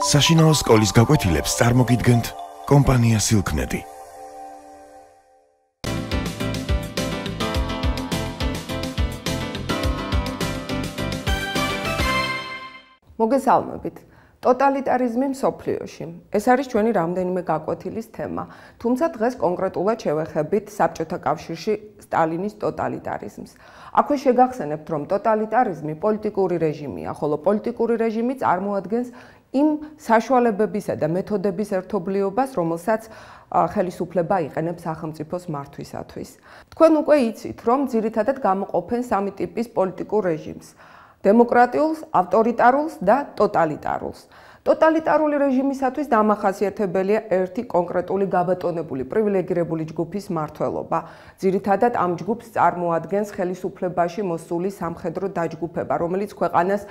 საშინაო სკოლის გაკვეთილებს წარმოგიდგენთ კომპანია სილქნეტი. მოგესალმებით. ტოტალიტარიზმი მსოფლიოში. ეს არის ჩვენი რამდენიმე გაკვეთილის თემა. თუმცა დღეს კონკრეტულად შევეხებით საბჭოთა კავშირში სტალინის ტოტალიტარიზმს. აქვე შეგახსენებთ, რომ ტოტალიტარიზმი პოლიტიკური რეჟიმია, ხოლო პოლიტიკური რეჟიმი წარმოადგენს იმ საშუალებებისა და მეთოდების ერთობლიობას, რომელსაც ხელისუფლება იყენებს სახელმწიფოს მართვისათვის. თქვენ უკვე იცით, რომ ძირითადად გამოყოფენ სამი ტიპის პოლიტიკურ რეჟიმს: დემოკრატიულს, ავტორიტარულს და ტოტალიტარულს. ტოტალიტარული რეჟიმისათვის დამახასიათებელია ერთი კონკრეტული გაბატონებული პრივილეგირებული ჯგუფის მმართველობა. ძირითადად ამ ჯგუფს წარმოადგენს ხელისუფლებაში მოსული სამხედრო დაჯგუფება, რომელიც ქვეყანას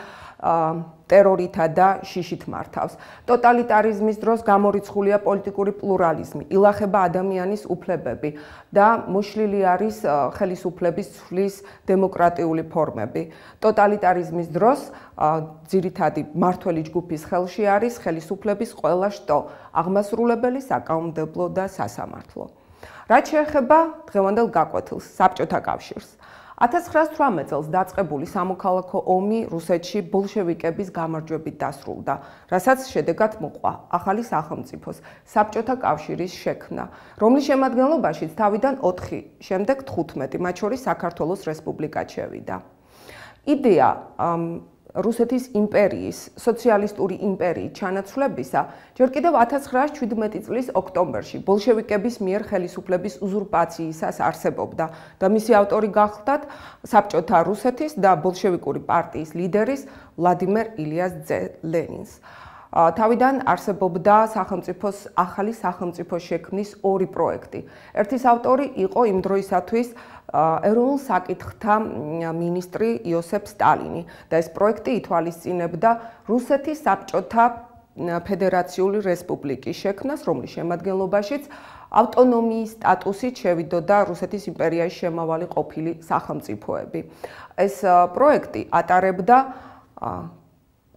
ტერორითა და შიშით მართავს. ტოტალიტარიზმის დროს გამორიცხულია პოლიტიკური პლურალიზმი, ილახება ადამიანის უფლებები და მოშლილი არის ხელისუფლების ცვლის დემოკრატიული ფორმები. ტოტალიტარიზმის დროს ძირითადი მმართველი ჯგუფის ხელში არის ხელისუფლების ყველა შტო, აღმასრულებელი, საკანონმდებლო და სასამართლო. რაც შეეხება დღევანდელ გაკვეთილს, საბჭოთა კავშირს. 1918 წელს დაწყებული სამოქალაქო ომი რუსეთში ბოლშევიკების გამარჯვებით დასრულდა, რასაც შედეგად მოყვა ახალი სახელმწიფოს, საბჭოთა კავშირის შექმნა, რომლის შემადგენლობაშიც თავიდან 4, შემდეგ 15, მათ შორის საქართველოს რესპუბლიკაც შევიდა. იდეა რუსეთის იმპერიის, სოციალისტური იმპერიით ჩანაცვლებისა ჯერ კიდევ 1917 წლის ოქტომბერში ბოლშევიკების მიერ ხელისუფლების უზურპაციისას არსებობდა და მისი ავტორი გახლდათ საბჭოთა რუსეთის და ბოლშევიკური პარტიის ლიდერის ვლადიმერ ილიას ლენინს. თავიდან არსებობდა სახელმწიფოს ახალი სახელმწიფოს შექმნის ორი პროექტი. ერთის ავტორი იყო იმ დროისათვის ეროვნულ საკითხთა მინისტრი იოსებ სტალინი და ეს პროექტი ითვალისწინებდა რუსეთის საბჭოთა ფედერაციული რესპუბლიკის შექმნას, რომლის შემადგენლობაშიც ავტონომიის სტატუსით შევიდოდა რუსეთის იმპერიაში შემავალი ყოფილი სახელმწიფოები. ეს პროექტი ატარებდა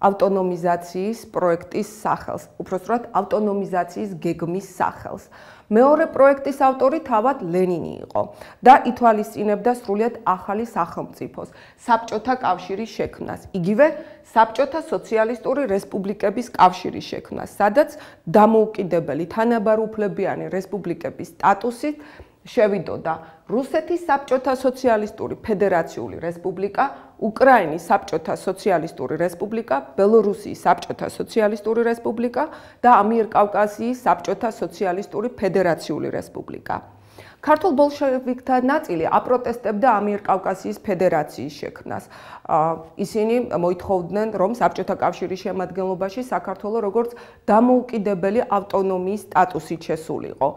ავტონომიზაციის პროექტის სახელს, უпростоრად ავტონომიზაციის გეგმის სახელს. მეორე პროექტის ავტორი თავად ლენინი იყო და ითვალისწინებდა სრულიად ახალი სახელმწიფოს, საბჭოთა კავშირის შექმნას, იგივე საბჭოთა სოციალისტური რესპუბლიკების კავშირის შექმნას, სადაც დამოუკიდებელი თანაბარუფლებიანი რესპუბლიკების სტატუსით შევიდოდა რუსეთის საბჭოთა სოციალისტური ფედერაციული რესპუბლიკა, უკრაინის საბჭოთა სოციალისტური რესპუბლიკა, ბელორუსიის საბჭოთა სოციალისტური რესპუბლიკა და ამიერკავკასიის საბჭოთა სოციალისტური ფედერაციული რესპუბლიკა. ქართულ ბოლშევიკთა ნაწილი აპროტესტებდა ამიერკავკასიის ფედერაციის შექმნას. ისინი მოითხოვდნენ, რომ საბჭოთა კავშირის შემადგენლობაში საქართველო როგორც დამოუკიდებელი ავტონომიის სტატუსით შესულიყო.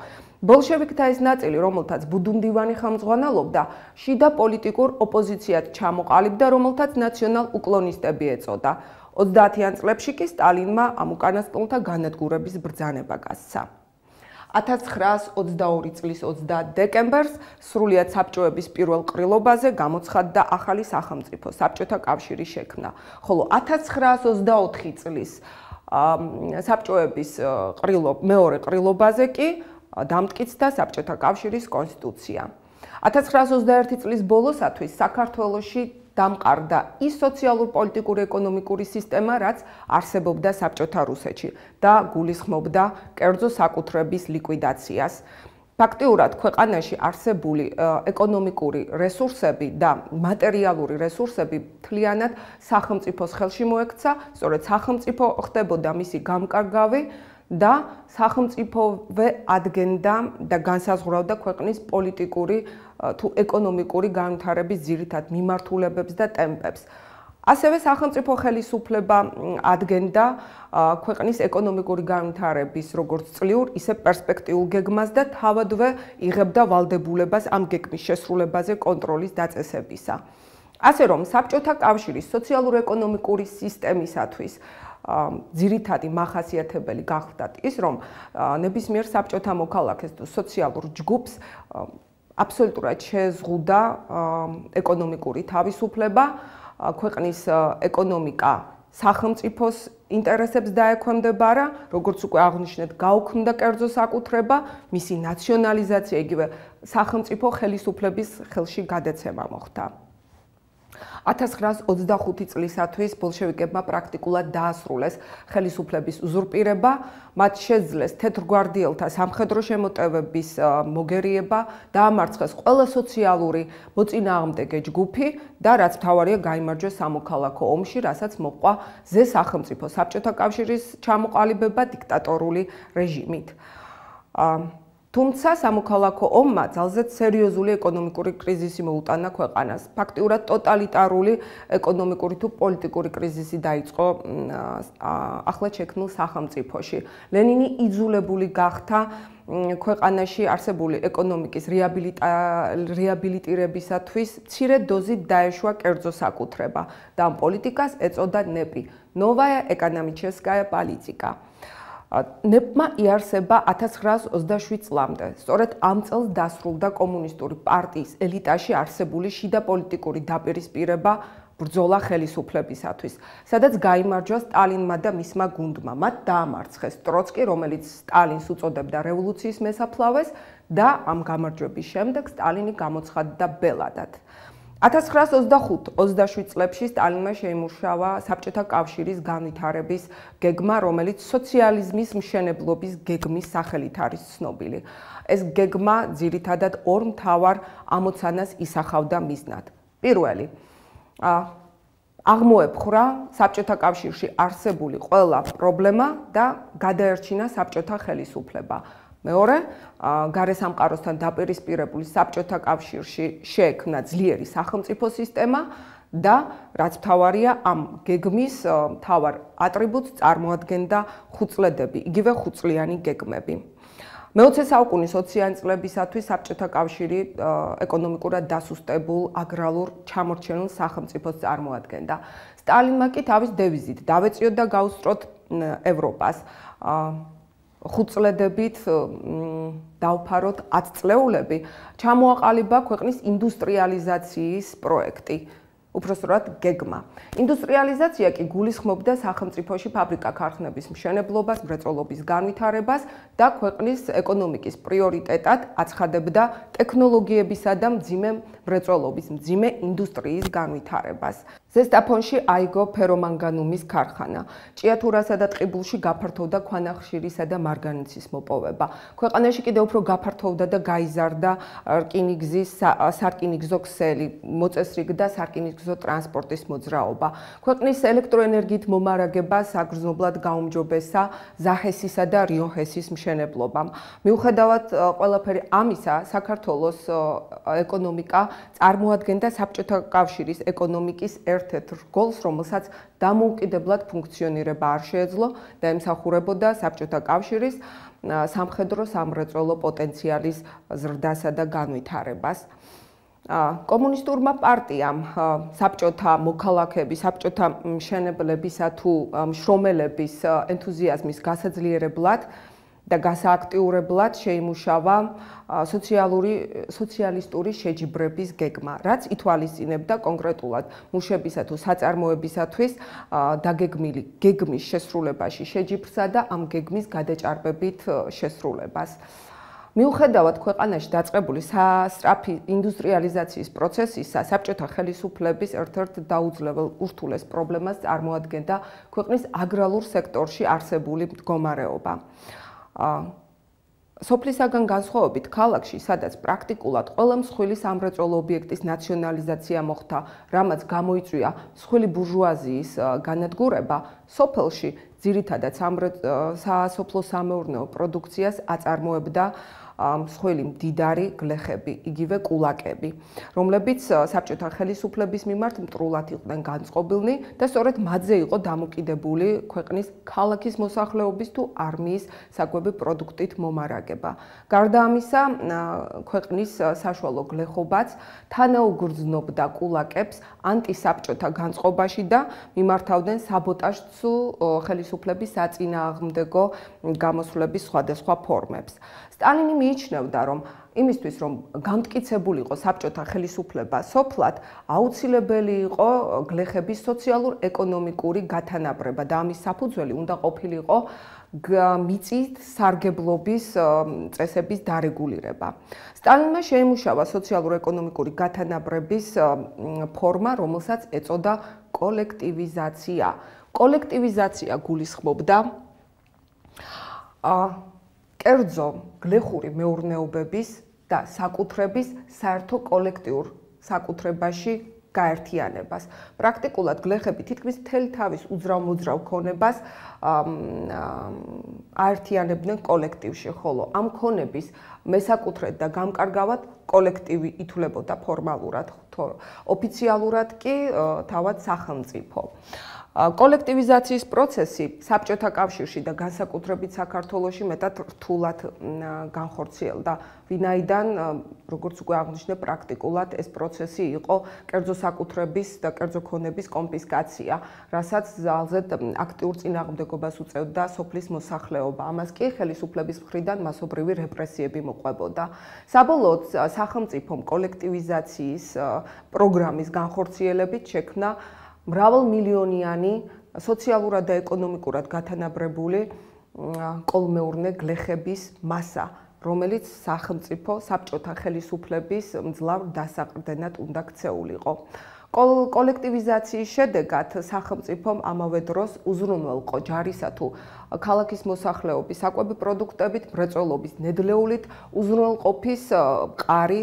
ბოლშევიკთა ეს ნაწილი, რომელთაც ბუდუნდივანი ხელმძღვანელობდა, შიდა პოლიტიკურ ოპოზიციად ჩამოყალიბდა, რომელთაც ნაციონალ-უკლონისტები ეწოდა. 30-იან წლებში კი სტალინმა ამ უკანასკნელთა განადგურების ბრძანება გასცა. 1922 წლის 30 დეკემბერს სრულიად საბჭოების პირველ ყრილობაზე გამოცხადდა ახალი სახელმწიფო, საბჭოთა კავშირის შექმნა, ხოლო 1924 წლის საბჭოების მეორე ყრილობაზე კი დამტკიცდა საბჭოთა კავშირის კონსტიტუცია. 1921 წლის ბოლოსათვის საქართველოში დამყარდა ის სოციალურ-პოლიტიკური ეკონომიკური სისტემა, რაც არსებობდა საბჭოთა რუსეთში და გულისხმობდა კერძო საკუთრების ლიკვიდაციას. ფაქტიურად ქვეყანაში არსებული ეკონომიკური რესურსები და მატერიალური რესურსები მთლიანად სახელმწიფოს ხელში მოექცა, სწორედ სახელმწიფო ხდებოდა მისი გამკარგავი და სახელმწიფოვე ადგენდა და განსაზღვრავდა ქვეყნის პოლიტიკური თუ ეკონომიკური განვითარების ძირითად მიმართულებებს და ტემპებს. ასევე სახელმწიფო ხელისუფლება ადგენდა ქვეყნის ეკონომიკური განვითარების როგორც წლიურ, ისე პერსპექტიულ გეგმას და თავადვე იღებდა ვალდებულებას ამ გეგმის შესრულებაზე კონტროლის დაწესებისა. ასე რომ საბჭოთა კავშირის სოციალურ-ეკონომიკური სისტემისათვის ძირითადი მახასიათებელი გახლდათ ის, რომ ნებისმიერ საბჭოთა მოქალაქეს თუ სოციალურ ჯგუფს აბსოლუტურად შეზღუდა ეკონომიკური თავისუფლება, ქვეყნის ეკონომიკა სახელმწიფოს ინტერესებს დაექვემდება რა, როგორც უკვე აღნიშნეთ, გაუქმდა კერძო საკუთრება, მისი ნაციონალიზაცია, იგივე სახელმწიფო ხელისუფლების ხელში გადაცემა მოხდა. 1925 წლისათვის ბოლშევიკებმა პრაქტიკულად დაასრულეს ხელისუფლების უზურპირება, მათ შეძლეს თეთრგვარდიელთა სამხედრო შემოტევების მოგერიება, დაამარცხეს ყველა სოციალური მოწინააღმდეგე ჯგუფი და რაც მთავარია გაიმარჯვეს სამოქალაქო ომში, რასაც მოჰყვა ზე სახელმწიფო საბჭოთა კავშირის ჩამოყალიბება დიქტატორული რეჟიმით. თუმცა სამოქალაქო ომმა ძალზედ სერიოზული ეკონომიკური კრიზისი მოუტანა ქვეყანას. ფაქტიურად ტოტალიტარული ეკონომიკური თუ პოლიტიკური კრიზისი დაიწყო ახლად შექმნილ სახელმწიფოში. ლენინი იძულებული გახდა ქვეყანაში არსებული ეკონომიკის რეაბილიტირებისათვის მცირე დოზით დაეშვა კერძო საკუთრება და ამ პოლიტიკას ეწოდა ნეპი ნოვაია ეკონომიჩესკაია პოლიტიკა. ნეპმა იარსება 1927 წლამდე. სწორედ ამ წელს დასრულდა კომუნისტური პარტიის ელიტაში არსებული შიდა პოლიტიკური დაპირისპირება ბრძოლა ხელისუფლებისათვის, სადაც გაიმარჯვა სტალინმა და მისმა გუნდმა. მათ დაამარცხეს ტროცკი, რომელიც სტალინს უწოდებდა რევოლუციის მესაფლავეს და ამ გამარჯვების შემდეგ სტალინი გამოცხადდა ბელადად. 1925-27 წლებში სტალინმა შეიმუშავა საბჭოთა კავშირის განვითარების გეგმა, რომელიც სოციალიზმის მშენებლობის გეგმის სახელით არის ცნობილი. ეს გეგმა ძირითადად ორ მთავარ ამოცანას ისახავდა მიზნად. პირველი, აღმოეფხვრა საბჭოთა კავშირში არსებული ყველა პრობლემა და გადაერჩინა საბჭოთა ხელისუფლება. მეორე, გარესამყაროსთან დაპირისპირებული საბჭოთა კავშირში შეექმნა ძლიერი სახელმწიფო სისტემა და რაც მთავარია, ამ გეგმის მთავარ ატრიბუტს წარმოადგენდა ხუწლედები, იგივე ხუწლიანი გეგმები. მე-20 საუკუნის 20-იანი წლებისათვის საბჭოთა კავშირი ეკონომიკურად დასუსტებულ აგრარულ ჩამორჩენილ სახელმწიფოს წარმოადგენდა. სტალინმა კი თავის დევიზით დავეწიოთ და გავუსწროთ ევროპას. ხუწლედებით დავფაროთ 10 წლეულები, ჩამოაყალიბა ქვეყნის ინდუსტრიალიზაციის პროექტი. უпростоრად გეგმა. ინდუსტრიალიზაცია კი გულისხმობდა სახელმწიფოში ფაბრიკა-ქარხნების მშენებლობას, მრეწველობის განვითარებას და ქვეყნის ეკონომიკის პრიორიტეტად აცხადებდა ტექნოლოგიებისა და მძიმე მრეწველობის, მძიმე ინდუსტრიის განვითარებას. ზესტაფონში აიგო ფერომანგანუმის ქარხანა. ჭიათურასა და ტყიბულში გაფართოვდა ქვანახშირისა და მარგანეცის მოპოვება. ქვეყანაში კიდევ უფრო გაფართოვდა და გაიზარდა რკინიგზის სარკინიგზო ქსელი, მოწესრიგდა სარკინიგზო ტრანსპორტის მოძრაობა. ქვეყნის ელექტროენერგიით მომარაგება საგრძნობლად გაუმჯობესა ზაჰესისა და რიოჰესის მშენებლობამ. მიუხედავად ყველაფერი ამისა, საქართველოს ეკონომიკა წარმოადგენდა საბჭოთა კავშირის ეკონომიკის ერთ-ერთ რგოლს, რომელსაც დამოუკიდებლად ფუნქციონირება არ შეეძლო და ემსახურებოდა საბჭოთა კავშირის სამხედრო-სამრეწველო პოტენციალის ზრდასა და განვითარებას. კომუნისტურმა პარტიამ საბჭოთა მოქალაქეების, საბჭოთა მშენებლებისა თუ მშრომელების ენთუზიაზმის გასაძლიერებლად და გასააქტიურებლად შეიმუშავა სოციალისტური შეჯიბრების გეგმა, რაც ითვალისწინებდა კონკრეტულად მუშებისა თუ საწარმოებისათვის დაგეგმილი გეგმის შესრულებაში შეჯიბრსა და ამ გეგმის გადაჭარბებით შესრულებას. მიუხედავად ქვეყანაში დაწყებული სასწრაფი ინდუსტრიალიზაციის პროცესისა, საბჭოთა ხელისუფლების ერთ-ერთ დაუძლებელ ურთულეს პრობლემას წარმოადგენდა ქვეყნის აგრარულ სექტორში არსებული მდგომარეობა. სოფლისაგან განსხვავებით ქალაქში, სადაც პრაქტიკულად ყველა მსხვილი სამრეწველო ობიექტის ნაციონალიზაცია მოხდა, რამაც გამოიწვია მსხვილი ბურჟუაზიის განადგურება, სოფელში ძირითადად სასოფლო-სამეურნეო პროდუქციას აწარმოებდა მსხვილი მდიდარი გლეხები, იგივე კულაკები, რომლებიც საბჭოთა ხელისუფლების მიმართ მტრულად იყვნენ განწყობილნი და სწორედ მათზე იყო დამოკიდებული ქვეყნის ქალაქის მოსახლეობის თუ არმიის საკვები პროდუქტით მომარაგება. გარდა ამისა, ქვეყნის საშუალო გლეხობაც თანაუგრძნობდა კულაკებს ანტისაბჭოთა განწყობაში და მიმართავდნენ საბოტაჟს ხელისუფლების საწინააღმდეგო გამოსვლების სხვადასხვა ფორმებს. სტალინი მიიჩნევდა, რომ იმისთვის რომ გამტკიცებულიყო საბჭოთა ხელისუფლება სოფლად, აუცილებელი იყო გლეხების სოციალურ-ეკონომიკური გათანაბრება და ამის საფუძველი უნდა ყოფილიყო მიწის სარგებლობის წესების დარეგულირება. სტალინმა შეიმუშავა სოციალურ-ეკონომიკური გათანაბრების ფორმა, რომელსაც ეწოდა კოლექტივიზაცია. კოლექტივიზაცია გულისხმობდა კერძო გლეხური მეურნეობების და საკუთრების საერთო კოლექტიურ საკუთრებაში გაერთიანებას. პრაქტიკულად გლეხები თითქმის მთელი თავის უძრავ-მოძრავ ქონებას აერთიანებდნენ კოლექტივში, ხოლო ამ ქონების მესაკუთრედ და გამკარგავად კოლექტივი ითვლებოდა ფორმალურად, ოფიციალურად კი თავად სახელმწიფო. კოლექტივიზაციის პროცესი საბჭოთა კავშირში და განსაკუთრებით საქართველოში მეტად რთულად განხორციელდა, ვინაიდან, როგორც უკვე აღნიშნე, პრაქტიკულად ეს პროცესი იყო კერძო საკუთრების და კერძო ქონების კონფისკაცია, რასაც ძალზედ აქტიურ წინააღმდეგობას უწევდა სოფლის მოსახლეობა. ამას კი ხელისუფლების მხრიდან მასობრივი რეპრესიები მოყვებოდა. საბოლოოდ სახელმწიფომ კოლექტივიზაციის პროგრამის განხორციელებით შექმნა მრავალმილიონიანი სოციალურად და ეკონომიკურად გათანაბრებული კოლმეურნე გლეხების მასა, რომელიც სახელმწიფო საბჭოთა ხელისუფლების მძლავრ დასაყრდენად უნდა ქცეულიყო. კოლექტივიზაციის შედეგად სახელმწიფომ ამავე დროს უზრუნველყო ჯარისა თუ ქალაქის მოსახლეობის საკვები პროდუქტებით, მრეწველობის ნედლეულით უზრუნველყოფის მყარი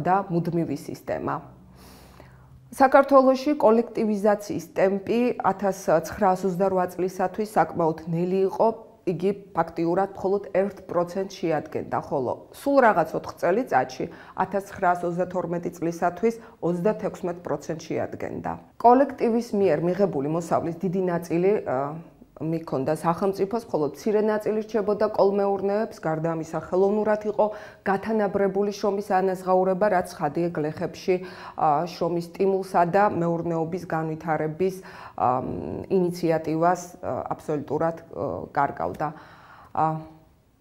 და მუდმივი სისტემა. საქართველოში კოლექტივიზაციის ტემპი 1928 წლისათვის საკმაოდ ნელი იყო, იგი ფაქტიურად მხოლოდ 1% შეადგენდა, ხოლო სულ რაღაც 4 წელიწადში 1932 წლისათვის 36% შეადგენდა. კოლექტივის მიერ მიღებული მოსავლის დიდი ნაწილი მიქონდა სახელმწიფოს, ხოლო მცირე ნაწილი რჩებოდა კოლმეურნეებს, გარდა ამისა ხელოვნურად იყო გათანაბრებული შრომის ანაზღაურება, რაც ხადია გლეხებში შრომის სტიმულსა და მეურნეობის განვითარების ინიციატივას აბსოლუტურად კარგავდა.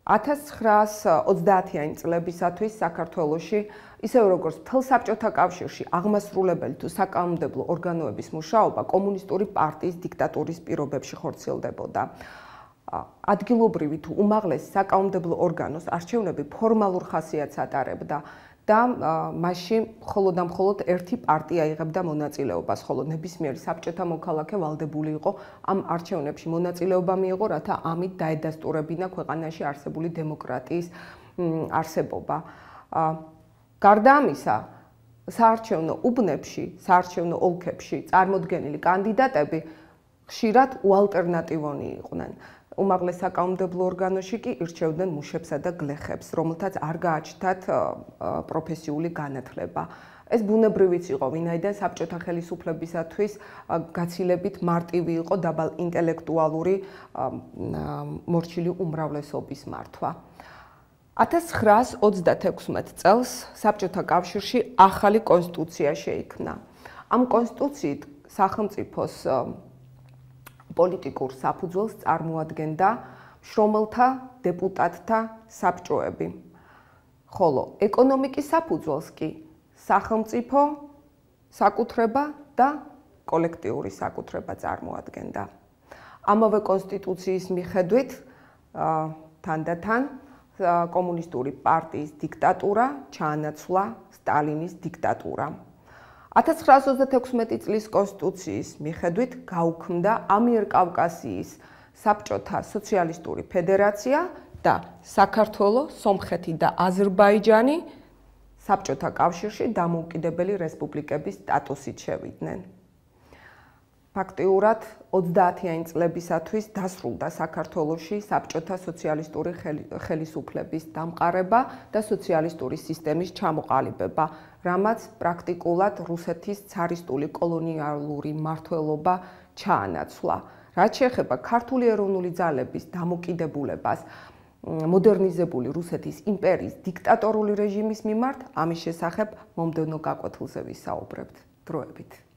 1930-იანი წლებისათვის საქართველოში, ისევე როგორც მთელ საბჭოთა კავშირში, აღმასრულებელი თუ საკანონმდებლო ორგანოების მუშაობა კომუნისტური პარტიის დიქტატურის პირობებში ხორციელდებოდა. ადგილობრივი თუ უმაღლესი საკანონმდებლო ორგანოს არჩევნები ფორმალურ ხასიათს ატარებდა და მასში მხოლოდ და მხოლოდ ერთი პარტია იღებდა მონაწილეობას, ხოლო ნებისმიერი საბჭოთა მოქალაქე ვალდებული იყო ამ არჩევნებში მონაწილეობა მიეღო, რათა ამით დაედასტურებინა ქვეყანაში არსებული დემოკრატიის არსებობა. გარდა ამისა, საარჩევნო უბნებში, საარჩევნო ოლქებში წარმოდგენილი კანდიდატები ხშირად უალტერნატივონი იყვნენ. უმაღლეს საკანონმდებლო ორგანოში კი ირჩევდნენ მუშებსა და გლეხებს, რომელთაც არ გააჩნდათ პროფესიული განათლება. ეს ბუნებრივიც იყო, ვინაიდან საბჭოთა ხელისუფლებისათვის გაცილებით მარტივი იყო დაბალ ინტელექტუალური მორჩილი უმრავლესობის მართვა. 1936 წელს საბჭოთა კავშირში ახალი კონსტიტუცია შეიქმნა. ამ კონსტიტუციით სახელმწიფოს პოლიტიკურ საფუძველს წარმოადგენდა შრომელთა დეპუტატთა საბჭოები, ხოლო ეკონომიკის საფუძველს კი სახელმწიფო საკუთრება და კოლექტიური საკუთრება წარმოადგენდა. ამავე კონსტიტუციის მიხედვით თანდათან კომუნისტური პარტიის დიქტატურა ჩაანაცვლა სტალინის დიქტატურა. 1936 წლის კონსტიტუციის მიხედვით გაუქმდა ამიერკავკასიის საბჭოთა სოციალისტური ფედერაცია და საქართველო, სომხეთი და აზერბაიჯანი საბჭოთა კავშირში დამოუკიდებელი რესპუბლიკების სტატუსით შევიდნენ. ფაქტიურად 30-იანი წლებისათვის დასრულდა საქართველოში საბჭოთა სოციალისტური ხელისუფლების დამყარება და სოციალისტური სისტემის ჩამოყალიბება, რამაც პრაქტიკულად რუსეთის ცარისტული კოლონიალური მმართველობა ჩაანაცვლა. რაც შეეხება ქართული ეროვნული ძალების დამოკიდებულებას მოდერნიზებული რუსეთის იმპერიის დიქტატორული რეჟიმის მიმართ, ამის შესახებ მომდევნო გაკვეთილზე ვისაუბრებთ. დროებით.